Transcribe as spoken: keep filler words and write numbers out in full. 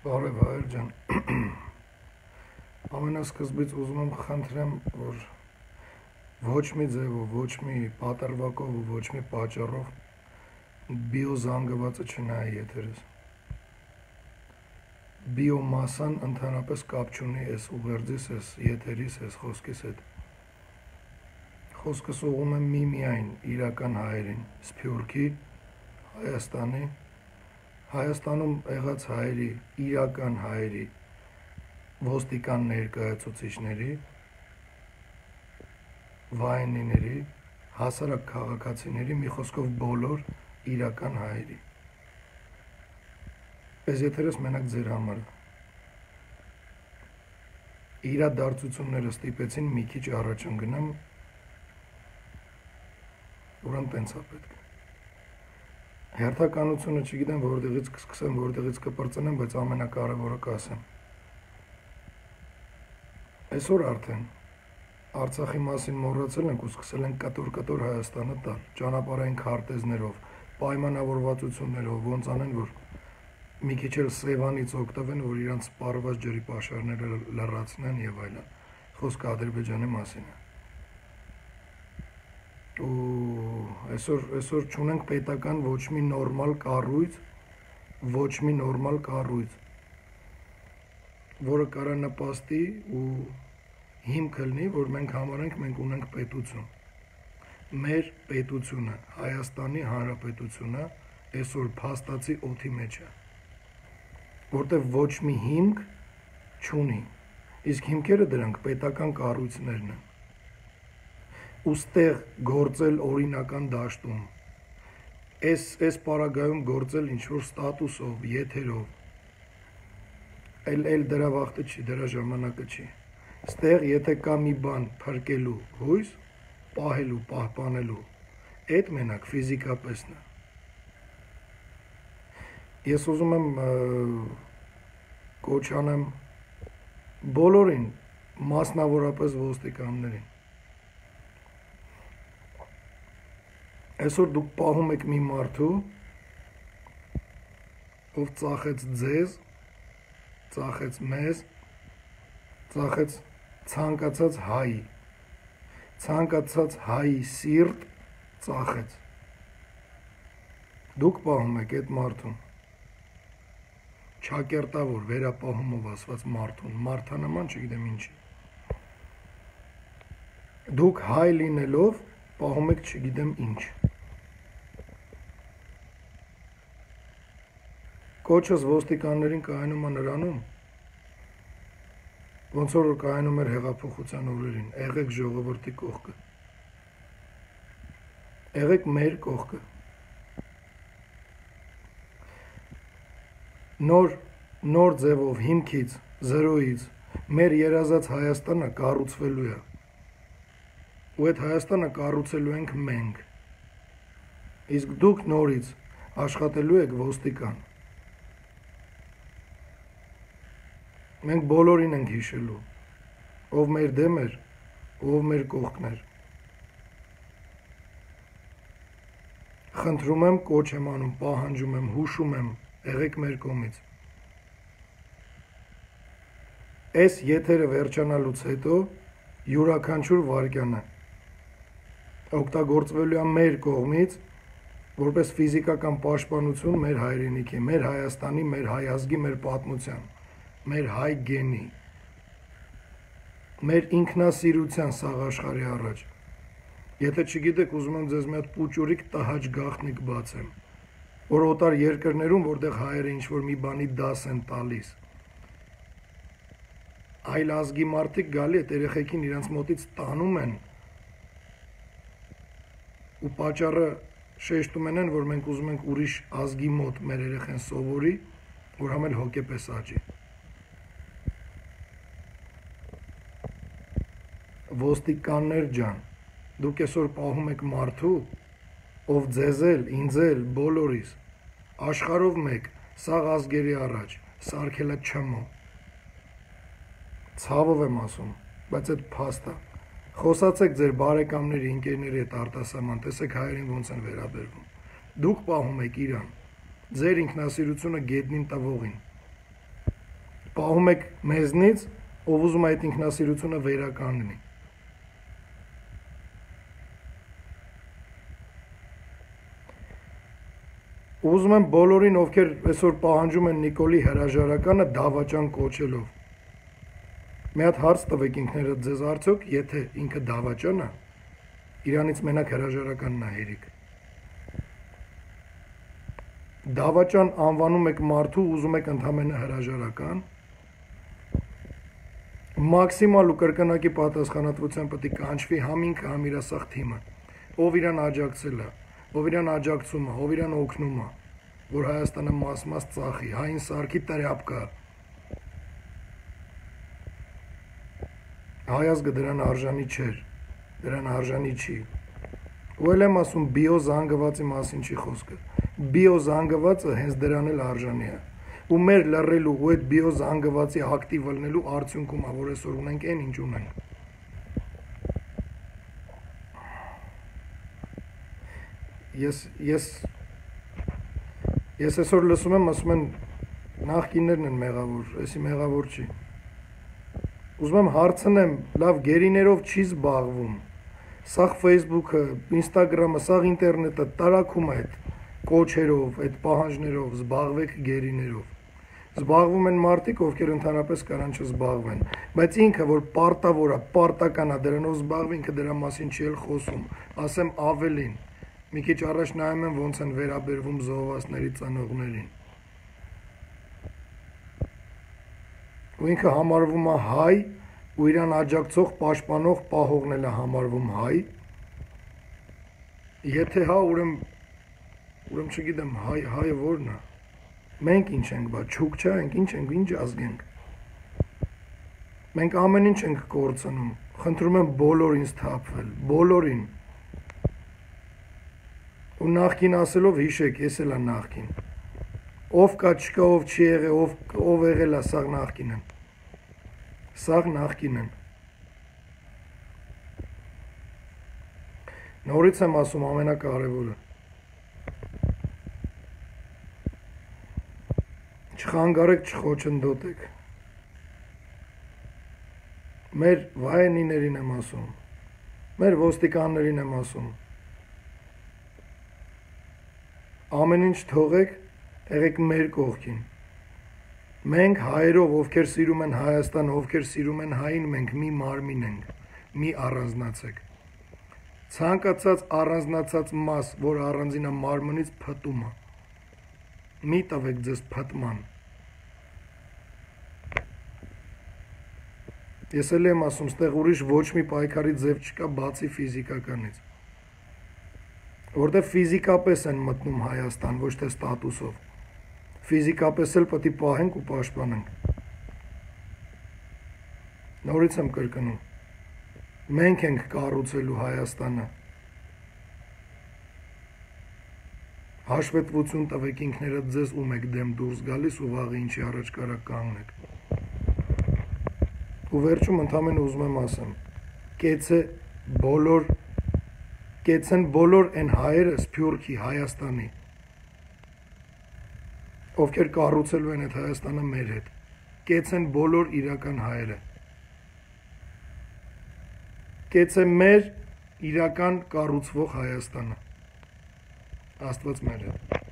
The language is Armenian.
Բարև հայր ջան, ամենասկզբից ուզում եմ խնդրեմ, որ ոչ մի ձևով, ոչ մի պատրվակով ու ոչ մի պատճառով բիոզանգվածը չնայի եթերս։ Բիոմասան ընդհանրապես կապ չունի այս ուղերձիս, այս եթերիս, այս խոսքիս հետ։ Խոսքս ուղղում եմ միմիայն իրական հայերին, Սփյուռքի, Հայաստանի, Հայաստանում եղած հայերի, իրական հայերի, ոստիկան ներկայացուցիչների, վայնիների, հասարակ քաղաքացիների, մի խոսքով բոլոր իրական հայերի։ Այս եթերս մենակ ձեր համար է։ Իրադարձությունները ստիպեցին մի քիչ առաջ ընկնեմ, ուրեմն տենց է պետք։ Հերթականությունը չգիտեմ որտեղից կսկսեմ, որտեղից կպրծնեմ, բայց ամենակարևորը կասեմ։ Այսօր արդեն Արցախի մասին մոռացել ենք ու սկսել ենք կտոր-կտոր Հայաստանը տալ, ճանապարհային քարտեզներով, պայմանավորվածություններով, ոնց անեն, որ մի քիչ էլ Սևանից օգտվեն, որ իրանց սպառված ջրի պաշարները լրացնեն եւ այլն։ Խոսքը Ադրբեջանի մասին է։ Ու այսօր այսօր չունենք պետական ոչ մի նորմալ կառույց, ոչ մի նորմալ կառույց, որը կարա նպաստի ու հիմք լինի, որ մենք համարենք մենք ունենք պետություն։ Մեր պետությունը, Հայաստանի Հանրապետությունը այսօր փաստացի օդի մեջ է, որտեղ ոչ մի հիմք չունի։ Իսկ հիմքերը դրանք պետական կառույցներն են։ Ուստեղ գործել օրինական դաշտում, այս այս պարագայում գործել ինչ-որ ստատուսով, եթերով, էլ էլ դրա վաղտը չի, դրա ժամանակը չի։ Ստեղ եթե կա մի բան փրկելու հույս, պահելու, պահպանելու, այդ մենակ ֆիզիկապես է։ Ես ուզում եմ կոչ անեմ բոլորին, մասնավորապես ոստիկաններին։ Այսօր դուք պահում եք մի մարդու, ով ծախեց ձեզ, ծախեց մեզ, ծախեց ցանկացած հայի, ցանկացած հայի սիրտ ծախեց։ Դուք պահում եք այդ մարդուն, չակերտավոր վերապահումով ասված մարդուն, մարդանման չգիտեմ ինչի։ Դուք հայ լինելով պահում եք չգիտեմ ինչ։ Կոչս ոստիկաններին կայանում է նրանում, ոնց որ կայանում էր հեղափոխության օրերին, եղեք ժողովրդի կողքը, եղեք մեր կողքը։ Նոր, նոր ձևով, հիմքից, զրոյից, մեր երազած Հայաստանը կառուցվելու է, ու այդ Հայաստանը կառուցելու ենք մենք, իսկ դուք նորից աշխատելու եք ոստիկան։ Մենք բոլորին ենք հիշելու, ով մեր դեմ էր, ով մեր կողքն էր։ Խնդրում եմ, կոչ եմ անում, պահանջում եմ, հուշում եմ, եղեք մեր կողմից։ Այս եթերը վերջանալուց հետո յուրաքանչյուր վայրկյանը օգտագործվելու է մեր կողմից, որպես ֆիզիկական պաշտպանություն մեր հայրենիքի, մեր Հայաստանի, մեր հայ ազգի, մեր պատմության, մեր հայ գենի, մեր ինքնասիրության սաղ աշխարհի առաջ։ Եթե չգիտեք, ուզում եմ ձեզ մի հատ պուճուրիկ տհաճ գաղտնիք բացեմ, որ օտար երկրներում, որտեղ հայերը ինչ-որ մի բանի դաս են տալիս, այլ ազգի մարդիկ գալի այդ երեխեքին իրանց մոտից տանում են ու պատճառը շեշտում են, որ մենք ուզում ենք ուրիշ ազգի մոտ մեր երեխեն սովորի, որ համ էլ հոգեպես աճի։ Ոստիկաններ ջան, դուք այսօր պահում եք մարդու, ով ձեզ էլ, ինձ էլ, բոլորիս, աշխարհով մեկ, սաղ ազգերի առաջ, սարքելա չմո։ Ցավով եմ ասում, բայց այդ փաստ է։ Խոսացեք ձեր բարեկամների, ընկերների հետ արտասահման, տեսեք հայերին ոնց են վերաբերվում։ Դուք պահում եք իրան, ձեր ինքնասիրությունը գետնին տվողին։ պահում եք մեզնից, ով ուզում է այդ ինքնասիրությունը վերականգնի։ Ուզում եմ բոլորին, ովքեր այսօր պահանջում են Նիկոլի հրաժարականը դավաճան կոչելով։ Մի հատ հարց տվեք ինքներդ ձեզ, արդյոք եթե ինքը դավաճան է, իրանից մենակ հրաժարականն է հերիք։ Դավաճան անվանում եք մարդու, ուզում եք ընդամենը հրաժարական։ Մաքսիմալ ու կրկնակի պատասխանատվության պետք է կանչվի համ ինքը, համ իր ասախ թիմը, ով իրան աջակցել է, ով իրան աջակցում է, ով իրան օգնում է, որ Հայաստանը մաս-մաս ծախի, հային սարքի տրապկա։ Հայազգը դրան արժանի չէր, դրան արժանի չի։ Ու էլ եմ ասում, բիոզանգվածի մասին չի խոսքը։ Բիոզանգվածը հենց դրան էլ արժանի է։ Ու մեր լռելու ու այդ բիոզանգվածի ակտիվ ելնելու արդյունքում է, որ այսօր ունենք այն ինչ ունենք։ Ես ես ես այսօր լսում եմ, ասում են նախկիններն են մեղավոր, էսի մեղավոր չի։ Ուզում եմ հարցնեմ, լավ գերիներով չի զբաղվում։ Սաղ Facebook-ը, Instagram-ը, սաղ ինտերնետը տարակում է այդ կոչերով, այդ պահանջներով, զբաղվեք գերիներով։ Զբաղվում են մարդիկ, ովքեր ընդհանրապես կարան չզբաղվեն, բայց ինքը, որ պարտավոր է, պարտական է դրանով զբաղվի, ինքը դրա մասին չի էլ խոսում։ Ասեմ ավելին, մի քիչ առաջ նայում եմ ոնց են վերաբերվում զոհվածների ծնողներին։ Ու ինքը համարվում է հայ, ու իրան աջակցող, պաշտպանող, պահողն էլ է համարվում հայ։ Եթե հա, ուրեմն ուրեմն չգիտեմ, հայ հայը ո՞րն է։ Մենք ինչ ենք, բա չուկչա ենք, ինչ ենք, ինչ ազգ ենք։ Մենք ամեն ինչ ենք կորցնում։ Խնդրում եմ բոլորին սթափվել, բոլորին։ Ու նախքին ասելով հիշեք, ես էլ եմ նախքին։ Ով կա, չկա, ով չի եղել, ով ով եղել է, սաղ նախքին են։ Սաղ նախքին են։ Նորից եմ ասում ամենակարևորը։ Չխանգարեք, չխոչընդոտեք։ Մեր վայենիներին եմ ասում, մեր ոստիկաններին եմ ասում։ Ամեն ինչ թողեք, եղեք մեր կողքին։ Մենք հայերով, ովքեր սիրում են Հայաստանը, ովքեր սիրում են հային, մենք մի մարմին ենք, մի առանձնացեք։ Ցանկացած առանձնացած մաս, որ առանձին է մարմնից, փտում է։ Մի տվեք ձեզ փտման։ Ես էլ եմ ասում, ստեղ ուրիշ ոչ մի պայքարի ձև չկա, բացի ֆիզիկականից։ Որտեղ ֆիզիկապես են մտնում Հայաստան, ոչ թե ստատուսով։ Ֆիզիկապես էլ պետք է պահենք ու պաշտպանենք։ Նորից եմ կրկնում։ Մենք ենք կառուցելու Հայաստանը։ Հաշվետվություն տվեք ինքներդ ձեզ, ում եք դեմ դուրս գալիս ու վաղը ինչի առաջ կարա կանգնեք։ Ու վերջում ընդամենը ուզում եմ ասեմ, կեցե բոլոր, կեցեն բոլոր այն հայերը Սփյուռքի, Հայաստանի, ովքեր կառուցելու են այդ Հայաստանը մեր հետ, կեցեն բոլոր իրական հայերը, կեցե մեր իրական կառուցվող Հայաստանը, Աստված մեր հետ։